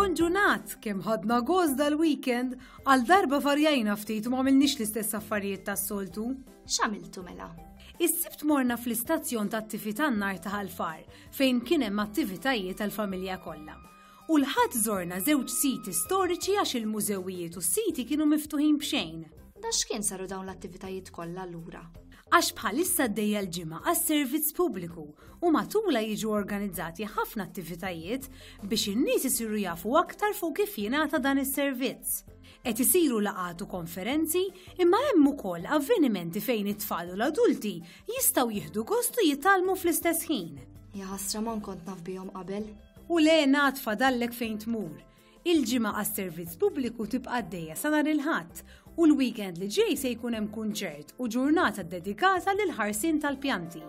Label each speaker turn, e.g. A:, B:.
A: Bonġu Nat, kemm ħadna gost dal-weekend, għal darba varjajna ftit u ma għamilniex l-istess affarijiet tas-soltu.
B: X'għamiltu mela?
A: Is-Sibt morna fl-istazzjon tat-tifi tan-nar ta' Ħal Far fejn kien hemm attivitajiet għall-familja kollha. U l-Ħadd żorna żewġ siti storiċi għax il-mużewijiet u s-siti kienu miftuħin b'xejn.
B: Da x'kien saru dawn l-attivitajiet kollha allura?
A: Għax bħalissa għaddejja l-ġimgħa għas-servizz pubbliku u matulha jiġu organizzati ħafna attivitajiet biex in-nies isiru jafu aktar fuq kif jingħata dan is-servizz. Qed isiru laqgħat u konferenzi imma hemm ukoll avvenimenti fejn it-tfal u l-adulti jistgħu jieħdu gost u jitgħallmu fl-istess ħin.
B: Jaħasra ma kont naf bihom qabel.
A: U le ngħad fadallek fejn tmur. Il-ġimgħa għas-servizz pubbliku tibqa' għaddejja sa nhar il-Ħadd u l-weekend li ġej se jkun hemm kunċert u ġurnata ddedikata lill-ħarsien tal-pjanti.